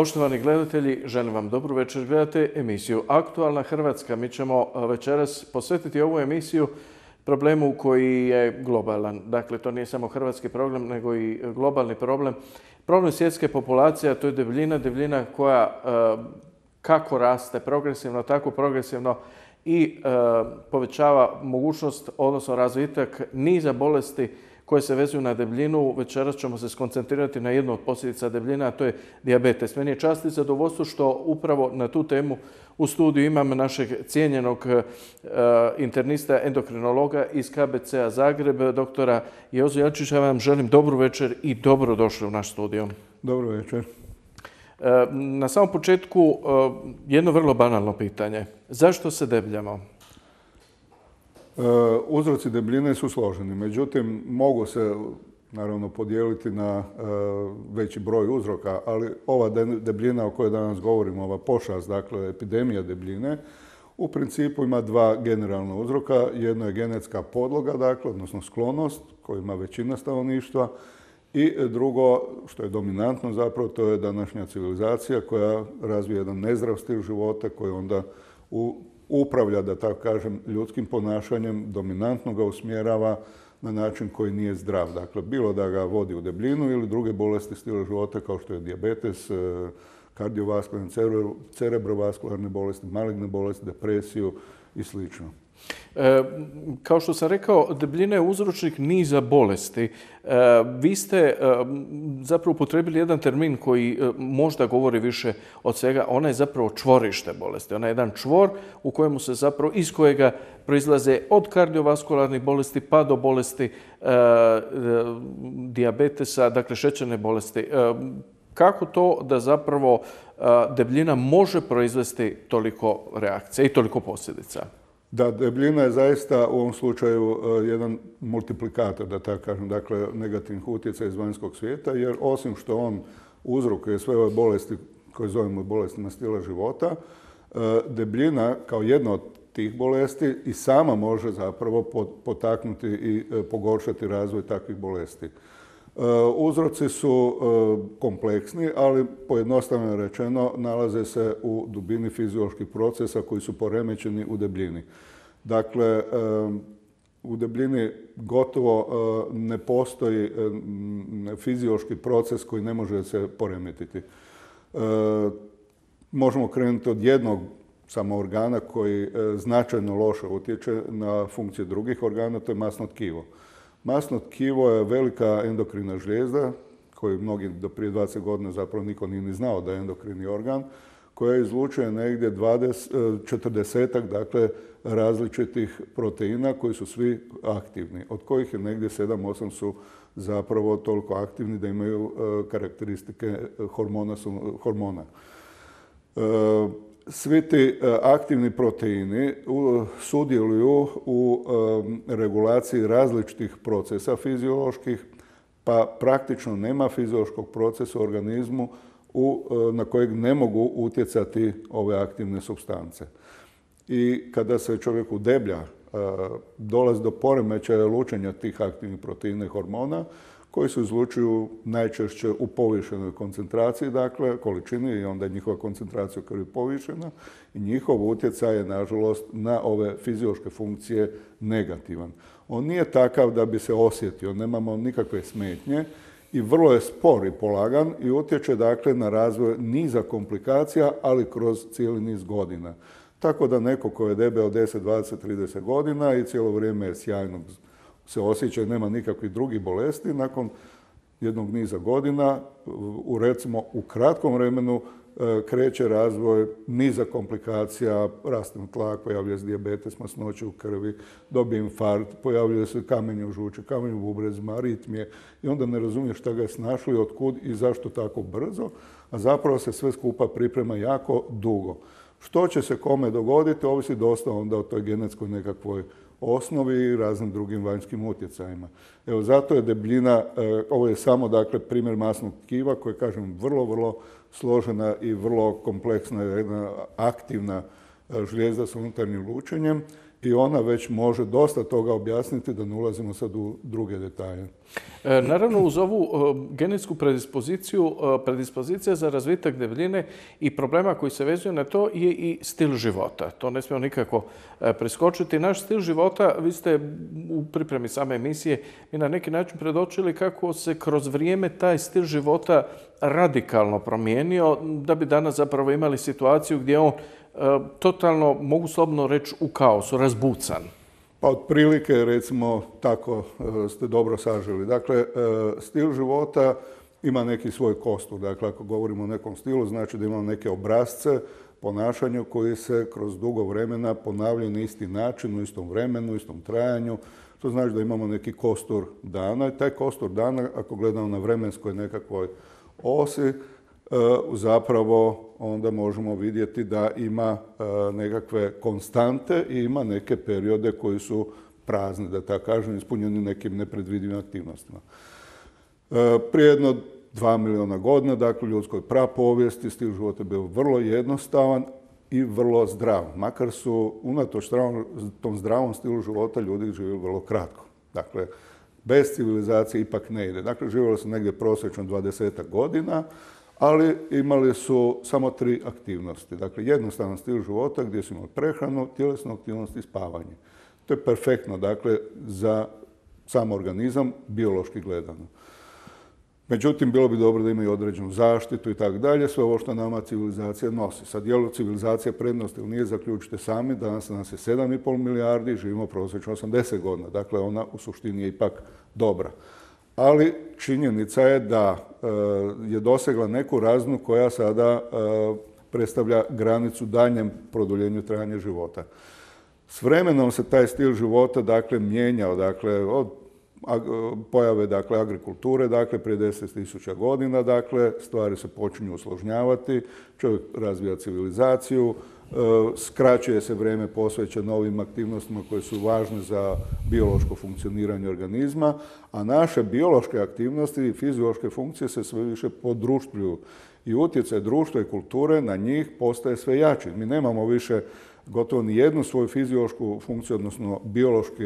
Poštovani gledatelji, želim vam dobru večer. Gledate emisiju Aktualna Hrvatska. Mi ćemo večeras posvetiti ovu emisiju problemu koji je globalan. Dakle, to nije samo hrvatski problem, nego i globalni problem. Problem svjetske populacije, a to je debljina. Debljina koja kako raste progresivno, tako progresivno i povećava mogućnost, odnosno razvitak niza bolesti koje se vezuju na debljinu. Večeras ćemo se skoncentrirati na jednu od posljedica debljine, a to je dijabetes. Meni je čast i zadovoljstvo što upravo na tu temu u studiju imam našeg cijenjenog internista, endokrinologa iz KBC-a Zagreb, doktora Jozu Jelčića. Vam želim dobru večer i dobrodošli u naš studio. Dobro večer. Na samom početku jedno vrlo banalno pitanje. Zašto se debljamo? Uzroci debljine su složeni, međutim mogu se naravno podijeliti na veći broj uzroka, ali ova debljina o kojoj danas govorimo, ova pošast, dakle epidemija debljine, u principu ima dva generalna uzroka. Jedno je genetska podloga, dakle, odnosno sklonost koju ima većina stanovništva, i drugo, što je dominantno zapravo, to je današnja civilizacija koja razvija jedan nezdrav stil života koji onda upravlja, da tako kažem, ljudskim ponašanjem, dominantno ga usmjerava na način koji nije zdrav. Dakle, bilo da ga vodi u debljinu ili druge bolesti stila života kao što je dijabetes, kardiovaskularne, cerebrovaskularne bolesti, maligne bolesti, depresiju i sl. Kao što sam rekao, debljina je uzročnik niza bolesti. Vi ste zapravo upotrijebili jedan termin koji možda govori više od svega. Ona je zapravo čvorište bolesti. Ona je jedan čvor u kojemu se zapravo, iz kojega proizlaze od kardiovaskularnih bolesti pa do bolesti dijabetesa, dakle šećerne bolesti. Kako to da zapravo debljina može proizvesti toliko reakcija i toliko posljedica? Da, debljina je zaista u ovom slučaju jedan multiplikator, da tako kažem, dakle negativnih utjecaja iz vanjskog svijeta, jer osim što on uzrokuje sve ove bolesti koje zovemo bolestima stila života, debljina kao jedna od tih bolesti i sama može zapravo potaknuti i pogoršati razvoj takvih bolesti. Uzroci su kompleksni, ali pojednostavno rečeno nalaze se u dubini fizioloških procesa koji su poremećeni u debljini. Dakle, u debljini gotovo ne postoji fiziološki proces koji ne može se poremetiti. Možemo krenuti od jednog samo organa koji značajno loše utječe na funkcije drugih organa, to je masno tkivo. Masno tkivo je velika endokrina žlijezda, koju mnogi do prije 20 godina zapravo niko nije ni znao da je endokrini organ, koja izlučuje negdje 40-ak, dakle, različitih proteina koji su svi aktivni, od kojih je negdje 7-8 su zapravo toliko aktivni da imaju karakteristike hormona. Svi ti aktivni proteini sudjeluju u regulaciji različitih procesa fizioloških, pa praktično nema fiziološkog procesa u organizmu na kojeg ne mogu utjecati ove aktivne supstance. I kada se čovjek udeblja, dolazi do poremećaja lučenja tih aktivnih proteina i hormona, koji se izlučuju najčešće u povišenoj koncentraciji, dakle, količini, i onda je njihova koncentracija u krvi povišena i njihov utjecaj je, nažalost, na ove fiziološke funkcije negativan. On nije takav da bi se osjetio, nemamo nikakve smetnje i vrlo je spor i polagan i utječe, dakle, na razvoj niza komplikacija, ali kroz cijeli niz godina. Tako da neko ko je debel 10, 20, 30 godina i cijelo vrijeme je sjajno se osjeća i nema nikakvih drugih bolesti, nakon jednog niza godina, recimo u kratkom vremenu, kreće razvoj niza komplikacija, raste tlak, pojavljuje se dijabetes, masnoće u krvi, dobije infarkt, pojavljuje se kamenje u žuči, kamenje u bubrezima, aritmije i onda ne razumije šta ga je snašlo i otkud i zašto tako brzo, a zapravo se sve skupa priprema jako dugo. Što će se kome dogoditi, ovisi dosta onda o toj genetskoj nekakvoj osnovi i raznim drugim vanjskim utjecajima. Evo, zato je debljina, ovo je samo, dakle, primjer masnog tkiva koji, kažem, vrlo složena i vrlo kompleksna, jedna aktivna žlijezda s unutarnjim lučenjem i ona već može dosta toga objasniti, da ne ulazimo sad u druge detalje. Naravno, uz ovu genetsku predispozicija za razvitak debljine i problema koji se vezuju na to je i stil života. To ne smijemo nikako preskočiti. Naš stil života, vi ste u pripremi same emisije i na neki način predočili kako se kroz vrijeme taj stil života radikalno promijenio, da bi danas zapravo imali situaciju gdje on totalno, mogu slobodno reći, u kaosu, razbucan. Pa otprilike, recimo, tako ste dobro saželi. Dakle, stil života ima neki svoj kostur. Dakle, ako govorimo o nekom stilu, znači da imamo neke obrasce ponašanja koji se kroz dugo vremena ponavljaju na isti način, u istom vremenu, u istom trajanju. To znači da imamo neki kostur dana. I taj kostur dana, ako gledamo na vremenskoj nekakvoj osi, zapravo onda možemo vidjeti da ima nekakve konstante i ima neke periode koji su prazni, da tako kažem, ispunjeni nekim nepredvidivim aktivnostima. Prije jedno 2 milijuna godina, dakle, u ljudskoj prapovijesti, stil života je bio vrlo jednostavan i vrlo zdrav. Makar su, unatoč tom zdravom stilu života, ljudi živjeli vrlo kratko. Dakle, bez civilizacije ipak ne ide. Dakle, živjeli su negdje prosječno 20 godina, ali imali su samo 3 aktivnosti. Dakle, jednostavan stil života gdje su imali prehranu, tjelesnu aktivnost i spavanje. To je perfektno, dakle, za sam organizam, biološki gledano. Međutim, bilo bi dobro da imaju određenu zaštitu i tako dalje, sve ovo što nama civilizacija nosi. Sad, je li civilizacija prednost ili nije, zaključite sami, danas nas je 7,5 milijardi, živimo prosječno 80 godina. Dakle, ona u suštini je ipak dobra. Ali činjenica je da je dosegla neku razinu koja sada predstavlja granicu daljnjem produljenju trajanja života. S vremenom se taj stil života, dakle, mijenjao, dakle, od pojave, dakle, agrikulture, dakle, prije 10.000 godina, dakle, stvari se počinju usložnjavati, čovjek razvija civilizaciju, skraćuje se vrijeme posvećeno novim aktivnostima koje su važne za biološko funkcioniranje organizma, a naše biološke aktivnosti i fiziološke funkcije se sve više podruštvuju i utjecaj društva i kulture na njih postaje sve jači. Mi nemamo više gotovo ni jednu svoju fiziološku funkciju, odnosno biološki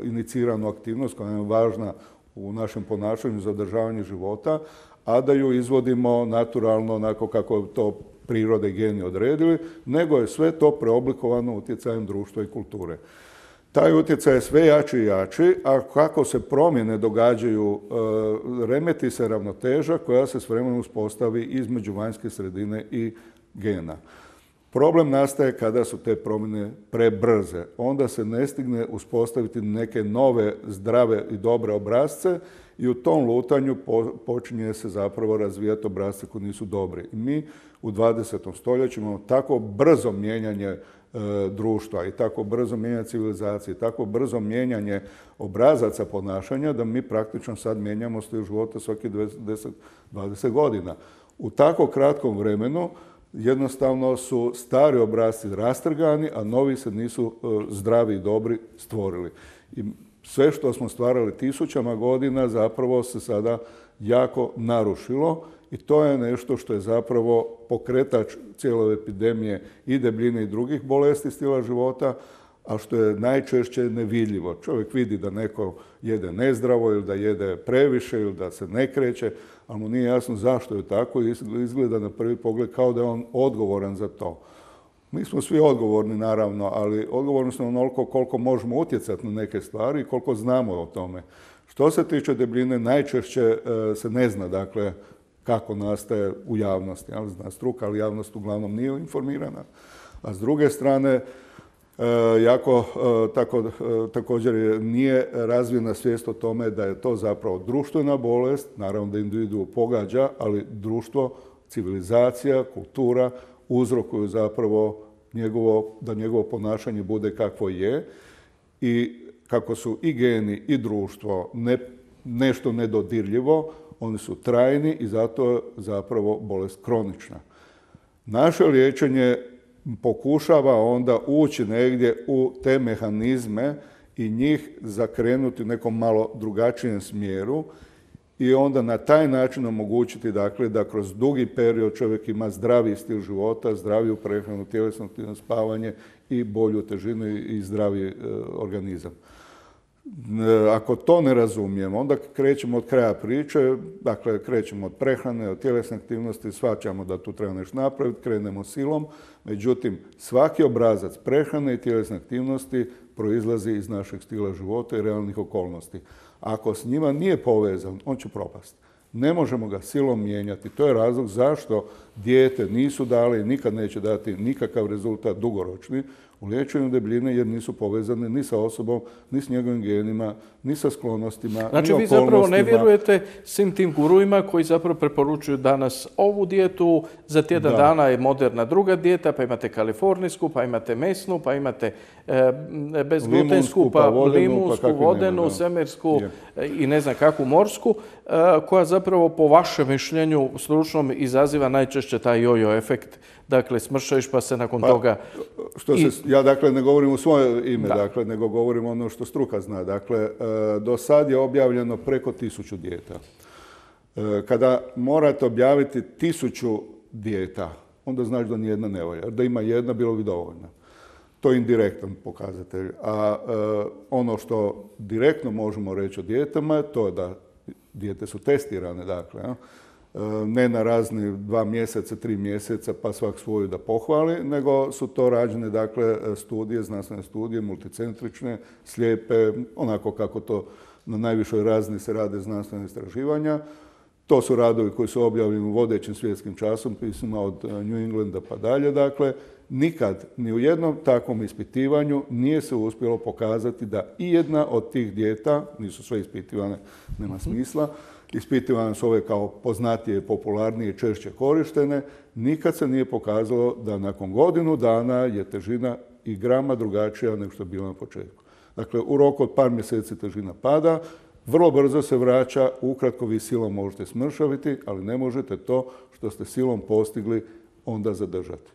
iniciranu aktivnost koja je važna u našem ponašanju za održavanje života, a da ju izvodimo naturalno onako kako to prirode i geni odredili, nego je sve to preoblikovano utjecajem društva i kulture. Taj utjecaj je sve jači i jači, a kako se promjene događaju, remeti se ravnoteža koja se s vremenom uspostavi između vanjske sredine i gena. Problem nastaje kada su te promjene prebrze. Onda se ne stigne uspostaviti neke nove, zdrave i dobre obrasce i u tom lutanju počinje se zapravo razvijati obrasce koji nisu dobri. I mi u 20. stoljeću imamo tako brzo mijenjanje društva i tako brzo mijenjanje civilizacije, tako brzo mijenjanje obrazaca ponašanja da mi praktično sad mijenjamo stil života svaki 10-20 godina. U tako kratkom vremenu jednostavno su stari obrasci rastrgani, a novi se nisu zdravi i dobri stvorili. I sve što smo stvarali tisućama godina zapravo se sada jako narušilo i to je nešto što je zapravo pokretač cijele epidemije i debljine i drugih bolesti stila života, a što je najčešće nevidljivo. Čovjek vidi da neko jede nezdravo ili da jede previše ili da se ne kreće, ali mu nije jasno zašto je tako i izgleda na prvi pogled kao da je on odgovoran za to. Mi smo svi odgovorni, naravno, ali odgovorni smo onoliko koliko možemo utjecati na neke stvari i koliko znamo o tome. Što se tiče debljine, najčešće se ne zna, dakle, kako nastaje u javnosti. Zna struka, ali javnost uglavnom nije informirana. A s druge strane, također nije razvijena svijest o tome da je to zapravo društvena bolest, naravno da individu pogađa, ali društvo, civilizacija, kultura uzrokuju zapravo da njegovo ponašanje bude kakvo je i kako su i geni i društvo nešto nedodirljivo, oni su trajni i zato je zapravo bolest kronična. Naše liječenje pokušava onda ući negdje u te mehanizme i njih zakrenuti u nekom malo drugačijem smjeru i onda na taj način omogućiti dakle, da kroz dugi period čovjek ima zdraviji stil života, zdraviju prehranu, tjelesno aktivno spavanje i bolju težinu i zdraviji organizam. Ako to ne razumijemo, onda krećemo od kraja priče, dakle krećemo od prehrane, od tjelesne aktivnosti, shvaćamo da tu treba nešto napraviti, krenemo silom, međutim svaki obrazac prehrane i tjelesne aktivnosti proizlazi iz našeg stila života i realnih okolnosti. Ako s njima nije povezan, on će propasti. Ne možemo ga silom mijenjati. To je razlog zašto dijete nisu dali i nikad neće dati nikakav rezultat dugoročni u liječenju debljine jer nisu povezane ni sa osobom, ni s njegovim genima, ni sa sklonostima, ni Znači vi okolnostima. zapravo ne vjerujete svim tim guruima koji zapravo preporučuju danas ovu dijetu, za tjedan dana je moderna druga dijeta, pa imate kalifornijsku, pa imate mesnu, pa imate bezglutensku, pa limunsku, vodenu, svemirsku i ne znam kakvu morsku, koja zapravo po vašem mišljenju stručnom izaziva najčešće taj jojo efekt. Dakle, smršaviš pa se nakon toga... Ja dakle ne govorim u svoje ime, dakle, nego govorim ono što struka zna. Dakle, do sad je objavljeno preko 1000 dijeta. Kada morate objaviti 1000 dijeta, onda znači da nijedna ne valja. Da ima jedna, bilo bi dovoljno. To je indirektan pokazatelj. A ono što direktno možemo reći o dijetama je to da dijete su testirane, dakle, ne na razni 2 mjeseca, 3 mjeseca, pa svak svoju da pohvali, nego su to rađene, dakle, studije, znanstvene studije, multicentrične, slijepe, onako kako to na najvišoj razini se rade znanstvene istraživanja. To su radovi koji su objavljeni u vodećim svjetskim časopisima od New Englanda pa dalje, dakle, nikad ni u jednom takvom ispitivanju nije se uspjelo pokazati da i jedna od tih dijeta, nisu sve ispitivane, nema smisla, ispitivane su ove kao poznatije, popularnije i češće korištene, nikad se nije pokazalo da nakon godinu dana je težina i grama drugačija nego što je bila na početku. Dakle, u roku od par mjeseci težina pada, vrlo brzo se vraća, ukratko vi silom možete smršaviti, ali ne možete to što ste silom postigli onda zadržati.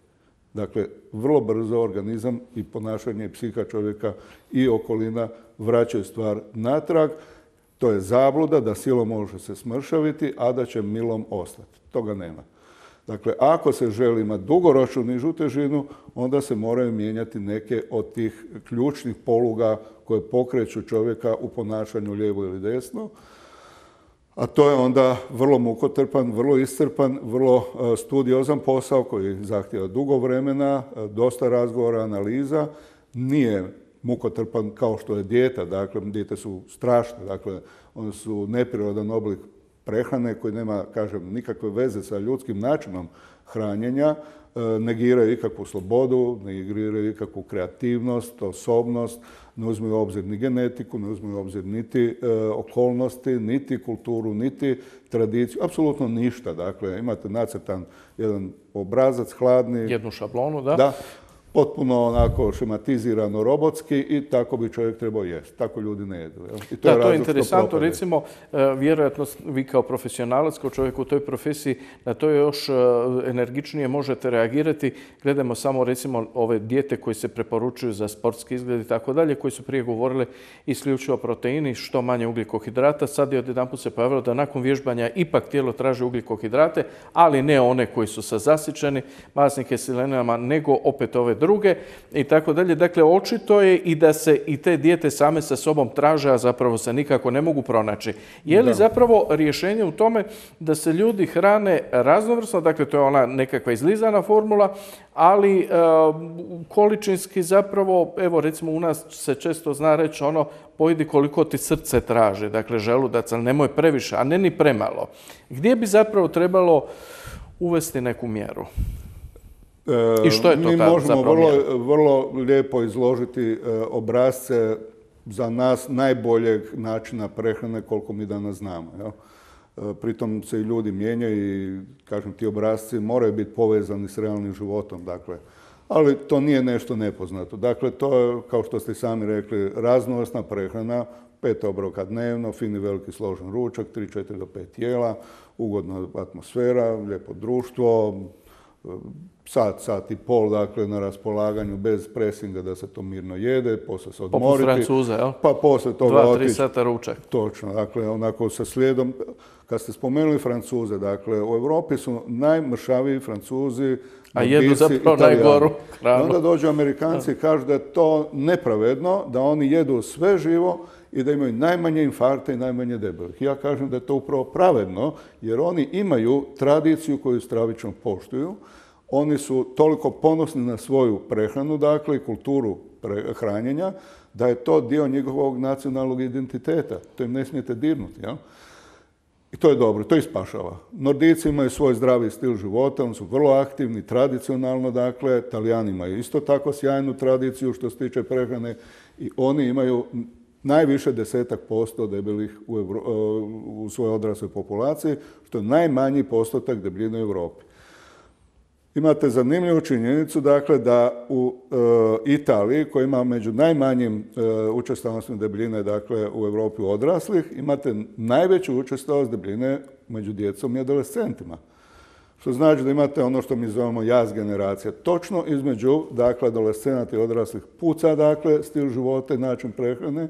Dakle, vrlo brzo organizam i ponašanje i psiha čovjeka i okolina vraćaju stvar natrag. To je zabluda da silom može se smršaviti, a da će milom ostati. Toga nema. Dakle, ako se želi imati dugoročnu nižu težinu, onda se moraju mijenjati neke od tih ključnih poluga koje pokreću čovjeka u ponašanju lijevo ili desno. A to je onda vrlo mukotrpan, vrlo iscrpan, vrlo studiozan posao koji zahtijeva dugo vremena, dosta razgovora, analiza. Nije mukotrpan kao što je dijeta, dakle, dijete su strašne, dakle, one su neprirodan oblik prehrane koji nema, kažem, nikakve veze sa ljudskim načinom hranjenja, negiraju ikakvu slobodu, negiraju ikakvu kreativnost, osobnost, ne uzmeju u obzir ni genetiku, ne uzmeju u obzir niti okolnosti, niti kulturu, niti tradiciju, apsolutno ništa. Dakle, imate nacrtan jedan obrazac, hladni. Jednu šablonu, da? Da. Potpuno onako šematizirano robotski i tako bi čovjek trebao jesti. Tako ljudi ne jedu. To je interesantno. Recimo, vjerojatno vi kao profesionalac, kao čovjek u toj profesiji, na to još energičnije možete reagirati. Gledamo samo recimo ove dijete koje se preporučuju za sportski izgled i tako dalje, koji su prije govorili isključivo proteini, što manje ugljikohidrata. Sad je odjedanput se pojavilo da nakon vježbanja ipak tijelo traži ugljikohidrate, ali ne one koji su zasićeni masnim kiselinama, nego opet ove druge i tako dalje. Dakle, očito je i da se i te dijete same sa sobom traže, a zapravo se nikako ne mogu pronaći. Je li zapravo rješenje u tome da se ljudi hrane raznovrsno, dakle to je ona nekakva izlizana formula, ali količinski zapravo, evo recimo u nas se često zna reći ono, pojedi koliko ti srce traži, dakle želudac, ali nemoj previše, a ne ni premalo. Gdje bi zapravo trebalo uvesti neku mjeru? I što je to mi ta možemo zapravo vrlo lijepo izložiti obrasce za nas najboljeg načina prehrane koliko mi danas znamo. Jel? Pritom se i ljudi mijenjaju i, kažem, ti obrasci moraju biti povezani s realnim životom. Dakle. Ali to nije nešto nepoznato. Dakle, to je, kao što ste sami rekli, raznovrsna prehrana, 5 obroka dnevno, fini veliki složen ručak, 3, 4 do 5 jela, ugodna atmosfera, lijepo društvo, sat i pol, dakle, na raspolaganju bez presinga da se to mirno jede, poslije se odmoriti. Poput Francuza, jel? Pa poslije toga 2-3 sata ručak. Točno, dakle, onako sa slijedom. Kad ste spomenuli Francuze, dakle, u Europi su najmršaviji Francuzi, a jedu zapravo najgoru hranu. Onda dođu Amerikanci i kažu da je to nepravedno, da oni jedu sve živo i da imaju najmanje infarkta i najmanje debelih. Ja kažem da je to upravo pravedno, jer oni imaju tradiciju koju stravično poštuju. Oni su toliko ponosni na svoju prehranu, dakle, i kulturu hranjenja, da je to dio njihovog nacionalnog identiteta. To im ne smijete dirnuti, jel? I to je dobro, to ih spašava. Nordijci imaju svoj zdravi stil života, oni su vrlo aktivni, tradicionalno, dakle, Talijani imaju isto tako sjajnu tradiciju što se tiče prehrane i oni imaju najviše 10% debelih u svojoj odrasloj populaciji, što je najmanji postotak debljine u Europi. Imate zanimljivu činjenicu, dakle, da u Italiji, koja ima među najmanjim učestalnostima debljine, dakle, u Europi odraslih, imate najveću učestalost debljine među djecom i adolescentima. Što znači da imate ono što mi zovemo jaz generacija. Točno između, dakle, adolescenata i odraslih puca, dakle, stil života i način prehrane.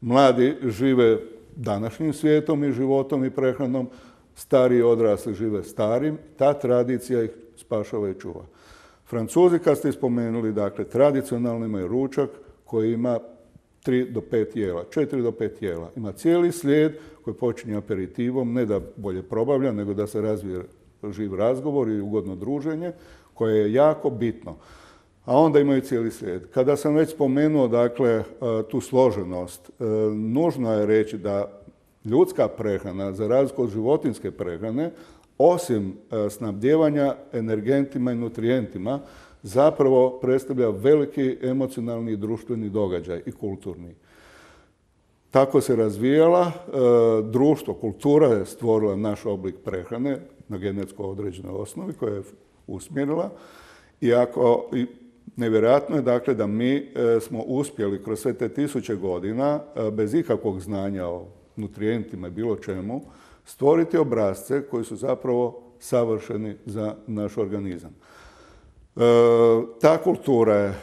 Mladi žive današnjim svijetom i životom i prehranom, stariji odrasli žive starim. Ta tradicija ih spašava i čuva. Francuzi, kad ste spomenuli, dakle, tradicionalno imaju ručak koji ima 3 do 5 jela, 4 do 5 jela. Ima cijeli slijed koji počinje aperitivom, ne da bolje probavlja, nego da se razvije živ razgovor i ugodno druženje, koje je jako bitno. A onda imaju cijeli slijed. Kada sam već spomenuo, dakle, tu složenost, nužno je reći da ljudska prehrana, za razliku od životinjske prehrane, osim snabdijevanja energentima i nutrijentima, zapravo predstavlja veliki emocionalni i društveni događaj i kulturni. Tako se razvijala, društvo, kultura je stvorila naš oblik prehrane na genetsko određenoj osnovi koja je usmjerila i nevjerojatno je, dakle, da mi smo uspjeli kroz sve te 1000 godina bez ikakvog znanja o nutrijentima i bilo čemu stvoriti obrasce koji su zapravo savršeni za naš organizam. Ta kultura je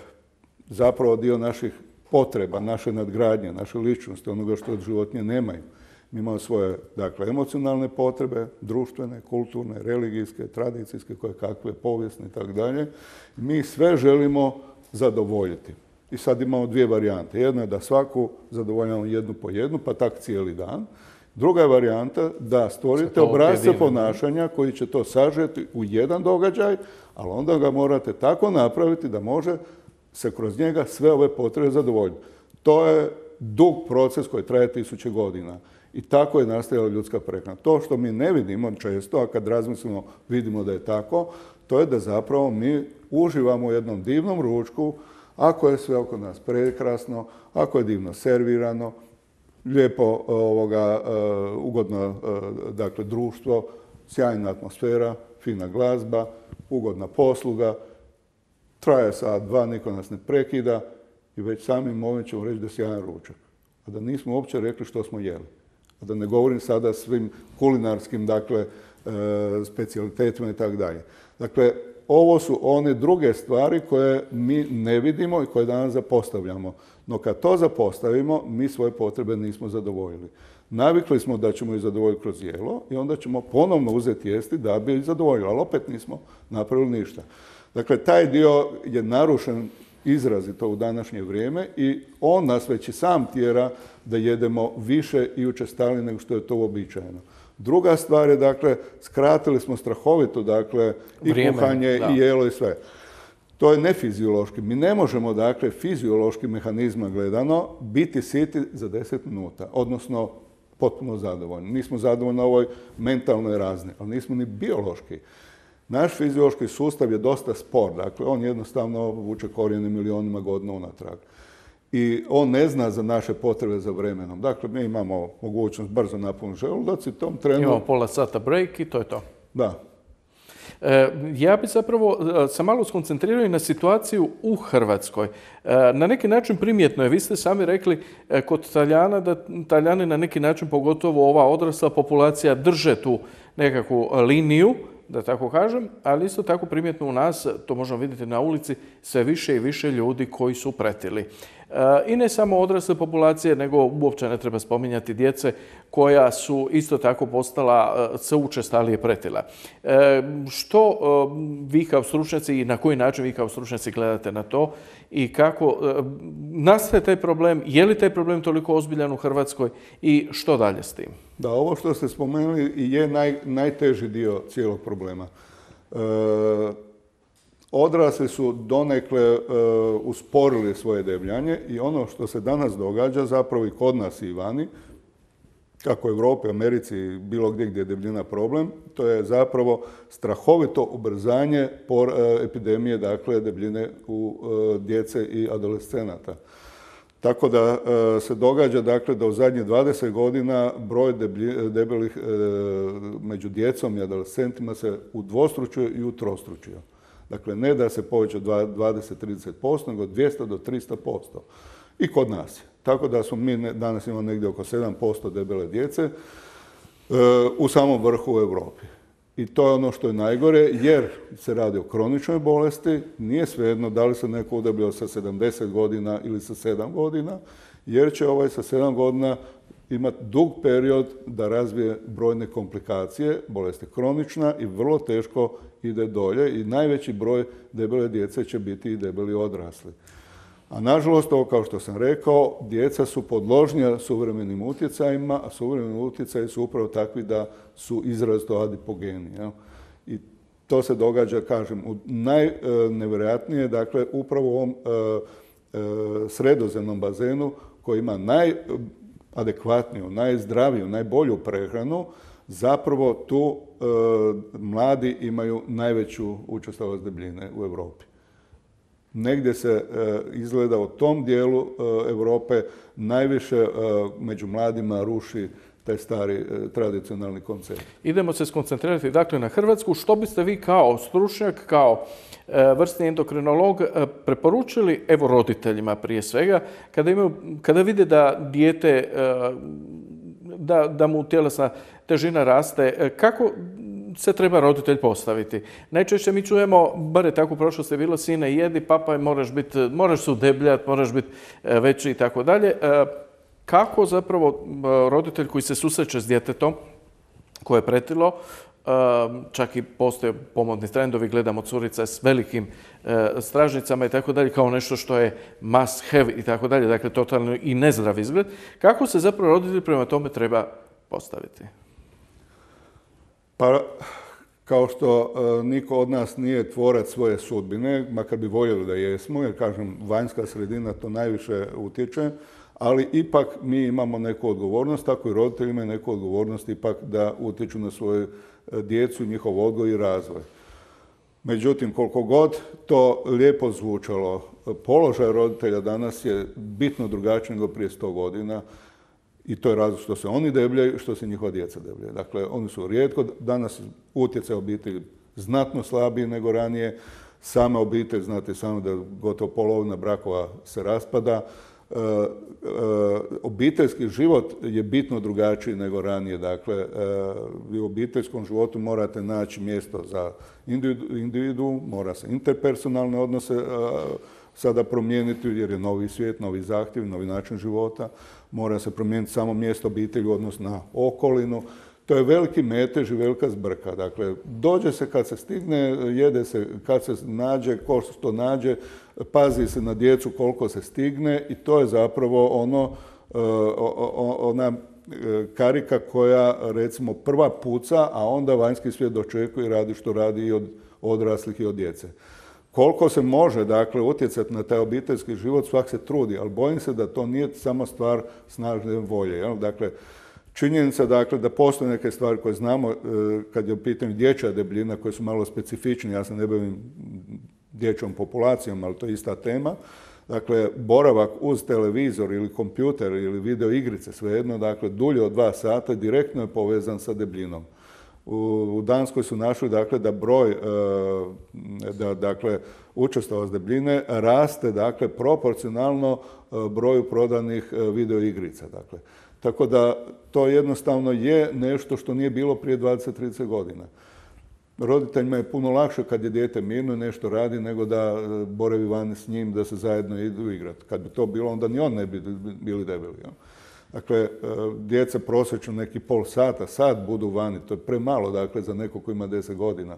zapravo dio naših potreba, naše nadgradnje, naše ličnosti, onoga što od životinje nemaju. Mi imamo svoje, dakle, emocionalne potrebe, društvene, kulturne, religijske, tradicijske, koje kakve, povijesne i tako dalje. Mi sve želimo zadovoljiti. I sad imamo 2 varijante. Jedna je da svaku zadovoljavamo jednu po jednu, pa tak cijeli dan. Druga je varijanta da stvorite obrasce ponašanja koji će to sažeti u jedan događaj, ali onda ga morate tako napraviti da može se kroz njega sve ove potrebe zadovoljiti. To je dug proces koji traje 1000 godina. I tako je nastajala ljudska prehrana. To što mi ne vidimo često, a kad razmislimo vidimo da je tako, to je da zapravo mi uživamo u jednom divnom ručku, ako je sve oko nas prekrasno, ako je divno servirano, lijepo, ugodno, dakle, društvo, sjajna atmosfera, fina glazba, ugodna posluga, traje sat, 2, niko nas ne prekida i već samim ovim ćemo reći da je sjajan ručak. A da nismo uopće rekli što smo jeli. A da ne govorim sada svim kulinarskim, dakle, specijalitetima i tako dalje. Dakle, ovo su one druge stvari koje mi ne vidimo i koje danas zapostavljamo. No kad to zapostavimo, mi svoje potrebe nismo zadovoljili. Navikli smo da ćemo ih zadovoljiti kroz jelo i onda ćemo ponovno uzeti jesti da bi ih zadovoljili, ali opet nismo napravili ništa. Dakle, taj dio je narušen izrazito u današnje vrijeme i on nas već i sam tjera da jedemo više i učestalije nego što je to uobičajeno. Druga stvar je, dakle, skratili smo strahovito, dakle, i kuhanje i jelo i sve. To je nefiziološki. Mi ne možemo, dakle, fiziološki mehanizma gledano biti siti za 10 minuta, odnosno potpuno zadovoljni. Nismo zadovoljni na ovoj mentalnoj razini, ali nismo ni biološki. Naš fiziološki sustav je dosta spor, dakle, on jednostavno vuče korijene milionima godina unatrag. I on ne zna za naše potrebe za vremenom. Dakle, mi imamo mogućnost brzo napuniti želudac i tom trenu... Imamo pola sata break i to je to. Da. Ja bi zapravo se malo skoncentrirao i na situaciju u Hrvatskoj. Na neki način primjetno je, vi ste sami rekli kod Talijana da Talijani na neki način, pogotovo ova odrasla populacija, drže tu nekakvu liniju da tako kažem, ali isto tako primjetno u nas, to možemo vidjeti na ulici, sve više i više ljudi koji su pretili. I ne samo odrasle populacije, nego uopće ne treba spominjati djece koja su isto tako postala sve učestalije pretila. Što vi kao stručnjaci i na koji način vi kao stručnjaci gledate na to i kako nastaje taj problem, je li taj problem toliko ozbiljan u Hrvatskoj i što dalje s tim? Da, ovo što ste spomenuli je najteži dio cijelog problema. Odrasli su donekle usporili svoje debljanje i ono što se danas događa, zapravo i kod nas i vani, kako u Europi, Americi, bilo gdje je debljina problem, to je zapravo strahovito ubrzanje epidemije, dakle, debljine u djece i adolescenata. Tako da se događa, dakle, da u zadnjih 20 godina broj debelih među djecom i adolescentima se udvostručio i utrostručio. Dakle, ne da se poveća 20-30%, nego 200 do 300%. I kod nas. Tako da smo mi danas imamo negdje oko 7% debele djece u samom vrhu u Europi. I to je ono što je najgore, jer se radi o kroničnoj bolesti, nije svejedno da li se neko udebljao sa 70 godina ili sa 7 godina, jer će ovaj sa 7 godina imati dug period da razvije brojne komplikacije, bolest je kronična i vrlo teško ide dolje i najveći broj debele djece će biti i debeli odrasli. A nažalost, ovo kao što sam rekao, djeca su podložnija suvremenim utjecajima, a suvremeni utjecaji su upravo takvi da su izrazito adipogeni. Jel? I to se događa, kažem, u najnevjerojatnije, dakle, upravo u ovom sredozemnom bazenu koji ima najadekvatniju, najzdraviju, najbolju prehranu, zapravo tu mladi imaju najveću učestalost debljine u Europi. Negdje se izgleda u tom dijelu Europe najviše među mladima ruši taj stari tradicionalni koncept. Idemo se skoncentrirati dakle na Hrvatsku. Što biste vi kao stručnjak, kao vrsni endokrinolog preporučili, evo roditeljima prije svega, kada vide da dijete, da mu tjelesna težina raste, kako se treba roditelj postaviti? Najčešće mi čujemo, bar je tako u prošlosti bilo, sine jedi, papa moraš se udebljati, moraš biti veći i tako dalje. Kako zapravo roditelj koji se susreće s djetetom koje je pretilo, čak i postoje pomodni trendovi, gledamo curice s velikim stražnicama i tako dalje, kao nešto što je must have i tako dalje, dakle totalno i nezdrav izgled. Kako se zapravo roditelj prema tome treba postaviti? Pa, kao što niko od nas nije tvorac svoje sudbine, makar bi voljeli da jesmo, jer kažem, vanjska sredina to najviše utječe, ali ipak mi imamo neku odgovornost, tako i roditelji imaju neku odgovornost ipak da utječu na svoju djecu, njihov odgoj i razvoj. Međutim, koliko god to lijepo zvučalo, položaj roditelja danas je bitno drugačiji nego prije 100 godina. I to je razlog što se oni debljaju i što se njihova djeca debljaju. Dakle, oni su rijetko, danas utjecaj obitelji znatno slabiji nego ranije. Sama obitelj, znate sami da gotovo polovina brakova se raspada. Obiteljski život je bitno drugačiji nego ranije. Dakle, vi u obiteljskom životu morate naći mjesto za individu, mora se interpersonalne odnose sada promijeniti jer je novi svijet, novi zahtjev, novi način života. Mora se promijeniti samo mjesto obitelji u odnosu na okolinu. To je veliki metež i velika zbrka. Dakle, dođe se kad se stigne, jede se kad se nađe, ko što nađe, pazi se na djecu koliko se stigne i to je zapravo ona karika koja, recimo, prva puca, a onda vanjski svijet dočekuje i radi što radi i od odraslih i od djece. Koliko se može, dakle, utjecati na taj obiteljski život, svak se trudi, ali bojim se da to nije samo stvar snažne volje. Jel? Dakle, činjenica, dakle, da postoje neke stvari koje znamo kad je u pitanju dječja debljina, koje su malo specifične, ja se ne bavim dječjom populacijom, ali to je ista tema. Dakle, boravak uz televizor ili kompjuter ili video igrice, svejedno, dakle, dulje od 2 sata direktno je povezan sa debljinom. U Danskoj su našli, dakle, da broj, dakle, učestalost debljine raste, dakle, proporcionalno broju prodanih video igrica, dakle. Tako da to jednostavno je nešto što nije bilo prije 20-30 godina. roditeljima je puno lakše kad je dijete mirno i nešto radi nego da boravi vani s njim, da se zajedno idu igrati. Kad bi to bilo, onda ni on ne bi bili debeli. Ja. Dakle, djeca prosječno neki pol sata, sat budu vani, to je premalo, dakle, za nekog ko ima 10 godina.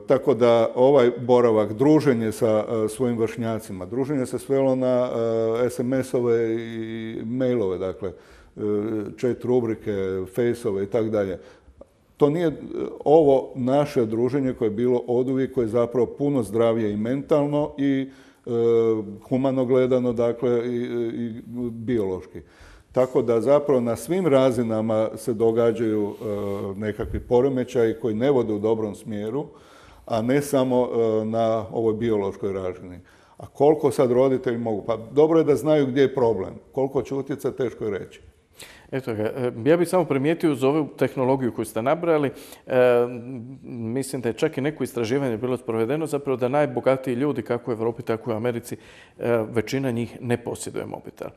Tako da ovaj boravak, druženje sa svojim vršnjacima, druženje se svelo na SMS-ove i mailove, dakle, chat rubrike, face-ove i tako dalje. To nije ovo naše druženje koje je bilo oduvijek, koje je zapravo puno zdravije i mentalno i humano gledano, dakle, i biološki. Tako da zapravo na svim razinama se događaju nekakvi poremećaji koji ne vode u dobrom smjeru, a ne samo na ovoj biološkoj razini. A koliko sad roditelji mogu? Pa dobro je da znaju gdje je problem. Koliko će utjecati, teško je reći. Eto ga, ja bih samo primijetio uz ovu tehnologiju koju ste nabrali, mislim da je čak i neko istraživanje bilo sprovedeno zapravo da najbogatiji ljudi, kako u Europi, tako i u Americi, većina njih ne posjeduje mobitel.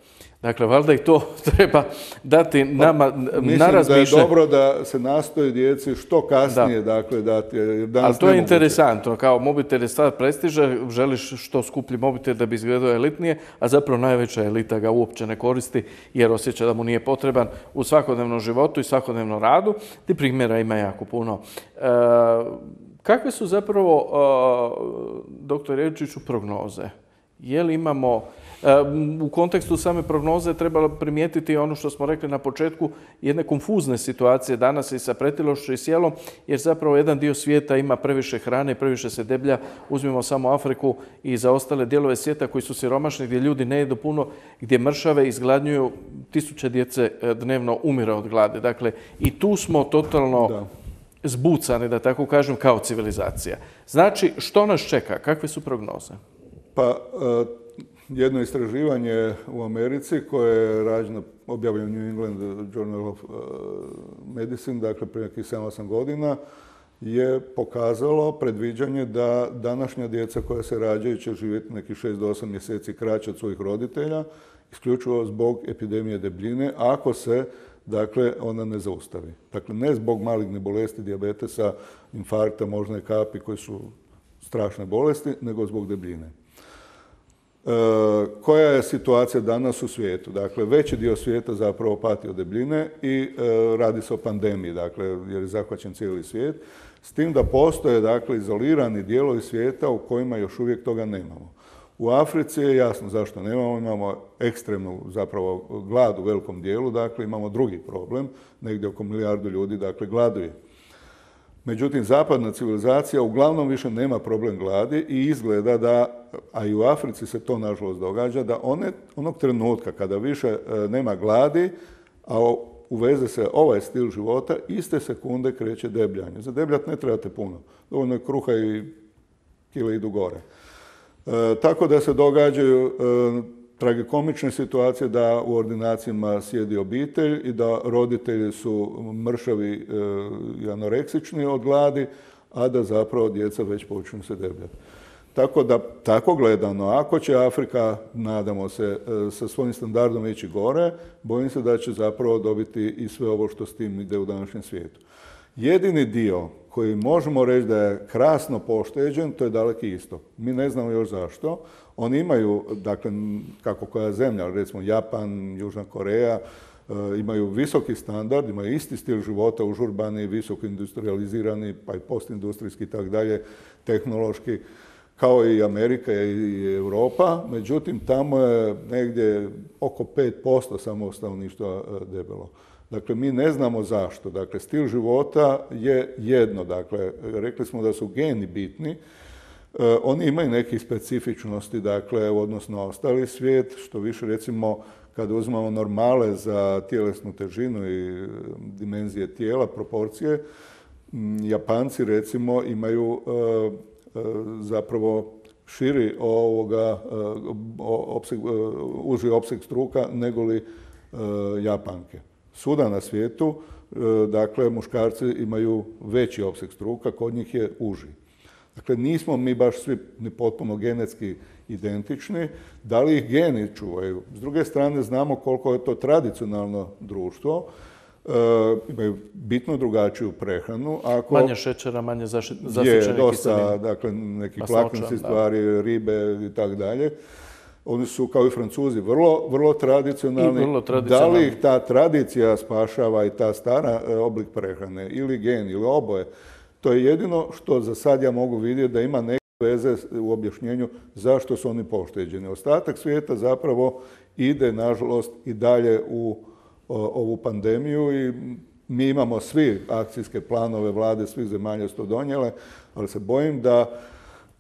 Dakle, valjda i to treba dati nama na razmišljanje. Mislim da je dobro da se nastoji djeci što kasnije, dakle, dati. Ali to je interesantno, kao mobitel je stvar prestiža, želiš što skuplji mobitel da bi izgledao elitnije, a zapravo najveća elita ga uopće ne koristi jer osjeća da mu nije potreban u svakodnevnom životu i svakodnevnom radu. Ti primjera ima jako puno. Kakve su zapravo, doktor Jevčiću, prognoze? Je li imamo, u kontekstu same prognoze trebalo primijetiti ono što smo rekli na početku, jedne konfuzne situacije danas i sa pretilošću i sjelom, jer zapravo jedan dio svijeta ima previše hrane i previše se deblja. Uzmimo samo Afriku i za ostale dijelove svijeta koji su siromašni, gdje ljudi ne jedu puno, gdje mršave izgladnjuju, tisuće djece dnevno umire od gladi. Dakle, i tu smo totalno zbucani, da tako kažem, kao civilizacija. Znači, što nas čeka? Kakve su prognoze? Pa, jedno istraživanje u Americi koje je rađeno, objavljeno u New England Journal of Medicine, dakle prije nekih 7-8 godina, je pokazalo predviđanje da današnja djeca koja se rađaju će živjeti nekih 6 do 8 mjeseci kraće od svojih roditelja, isključivo zbog epidemije debljine, ako se, dakle, ona ne zaustavi. Dakle, ne zbog maligne bolesti, dijabetesa, infarkta, moždane kapi, koji su strašne bolesti, nego zbog debljine. Koja je situacija danas u svijetu? Dakle, veći dio svijeta zapravo pati od debljine i radi se o pandemiji, dakle, jer je zahvaćen cijeli svijet. S tim da postoje, dakle, izolirani dijelovi svijeta u kojima još uvijek toga nemamo. U Africi je jasno zašto nemamo, imamo ekstremnu zapravo glad u velikom dijelu, dakle, imamo drugi problem, negdje oko 1 milijardu ljudi, dakle, gladuje. Međutim, zapadna civilizacija uglavnom više nema problem gladi i izgleda da, a i u Africi se to nažalost događa, da onog trenutka kada više nema gladi, a uveze se ovaj stil života, iste sekunde kreće debljanje. Za debljat ne trebate puno. Dovoljno je kruha i kile idu gore. Tako da se događaju tragikomične situacije da u ordinacijama sjedi obitelj i da roditelji su mršavi i anoreksični od gladi, a da zapravo djeca već počinju se debljati. Tako da, tako gledano, ako će Afrika, nadamo se, sa svojim standardom ići gore, bojim se da će zapravo dobiti i sve ovo što s tim ide u današnjem svijetu. Jedini dio koji možemo reći da je krasno pošteđen, to je Daleki istok. Mi ne znamo još zašto. Oni imaju, dakle, kako koja zemlja, recimo Japan, Južna Koreja, imaju visoki standard, imaju isti stil života, užurbani, visoko industrializirani, pa i postindustrijski i tako dalje, tehnološki, kao i Amerika i Europa. Međutim, tamo je negdje oko 5% samo stanovništva debelo. Dakle, mi ne znamo zašto. Dakle, stil života je jedno. Dakle, rekli smo da su geni bitni. Oni imaju neke specifičnosti, dakle, odnosno ostali svijet, što više, recimo, kada uzmemo normale za tjelesnu težinu i dimenzije tijela, proporcije, Japanci, recimo, imaju zapravo širi uži opseg struka nego li Japanke. Svuda na svijetu, dakle, muškarci imaju veći opseg struka, kod njih je uži. Dakle, nismo mi baš svi ni potpuno genetski identični. Da li ih geni čuvaju? S druge strane, znamo koliko je to tradicionalno društvo. imaju bitno drugačiju prehranu. Manje šećera, manje zasićenih je dosta, kiselina. dakle, neki Masnoća, vlakninske stvari, ribe i tako dalje. Oni su, kao i Francuzi, vrlo tradicionalni. I vrlo Da tradicionalni. li ih ta tradicija spašava i ta stara oblik prehrane, ili gen, ili oboje? To je jedino što za sad ja mogu vidjeti da ima neke veze u objašnjenju zašto su oni pošteđeni. Ostatak svijeta zapravo ide, nažalost, i dalje u ovu pandemiju i mi imamo svi akcijske planove vlade, svih zemalja su to donijele, ali se bojim da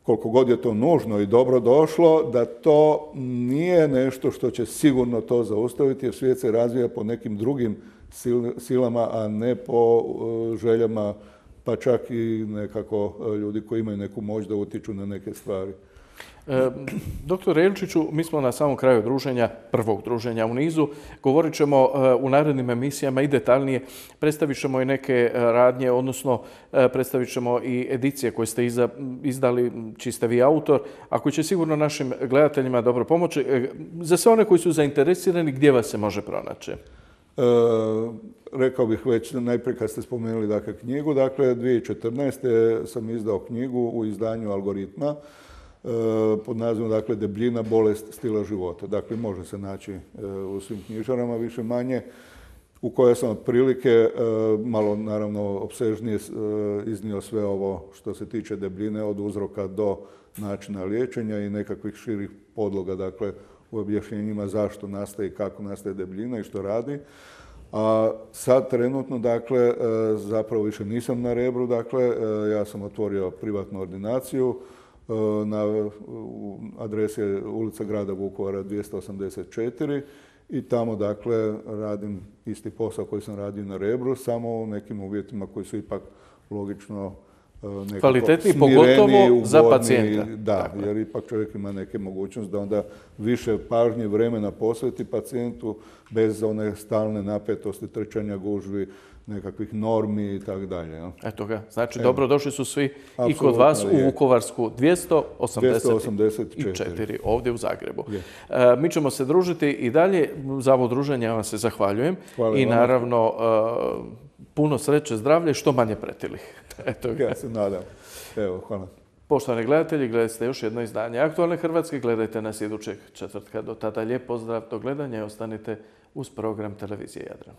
koliko god je to nužno i dobro došlo, da to nije nešto što će sigurno to zaustaviti, jer svijet se razvija po nekim drugim silama, a ne po željama, pa čak i nekako ljudi koji imaju neku moć da utječu na neke stvari. Doktor Jelčiću, mi smo na samom kraju druženja, prvog druženja u nizu. Govorit ćemo u narednim emisijama i detaljnije. Predstavit ćemo i neke radnje, odnosno predstavit ćemo i edicije koje ste izdali, čiji ste vi autor, a koji će sigurno našim gledateljima dobro pomoći. Za sve one koji su zainteresirani, gdje vas se može pronaći? Rekao bih već najprije kad ste spomenuli dakle, knjigu. Dakle, 2014. sam izdao knjigu u izdanju Algoritma pod nazivom dakle, Debljina, bolest stila života. Dakle, može se naći u svim knjižarama više manje, u kojoj sam otprilike malo naravno opsežnije iznio sve ovo što se tiče debljine od uzroka do načina liječenja i nekakvih širih podloga, dakle, u objašnjenjima zašto nastaje i kako nastaje debljina i što radi. A sad trenutno, dakle, zapravo više nisam na Rebru, dakle, ja sam otvorio privatnu ordinaciju na adresi je ulica grada Vukovara 284 i tamo, dakle, radim isti posao koji sam radio na Rebru, samo u nekim uvjetima koji su ipak logično kvalitetniji, pogotovo za pacijenta. Da, dakle, jer ipak čovjek ima neke mogućnosti da onda više pažnje vremena posveti pacijentu bez one stalne napetosti, trčanja, gužvi, nekakvih normi i tako dalje. Eto ga, znači dobrodošli su svi i kod vas u Vukovarsku 284 ovdje u Zagrebu. Mi ćemo se družiti i dalje. Za ovo druženje ja vam se zahvaljujem. I naravno puno sreće, zdravlja i što manje pretilih. Eto ga. Ja se nadam. Evo, hvala. Poštovani gledatelji, gledajte još jedno izdanje Aktualne Hrvatske. Gledajte nas idućeg četvrtka. Do tada lijep pozdrav, do gledanja i ostanite uz program Televizije Jadran.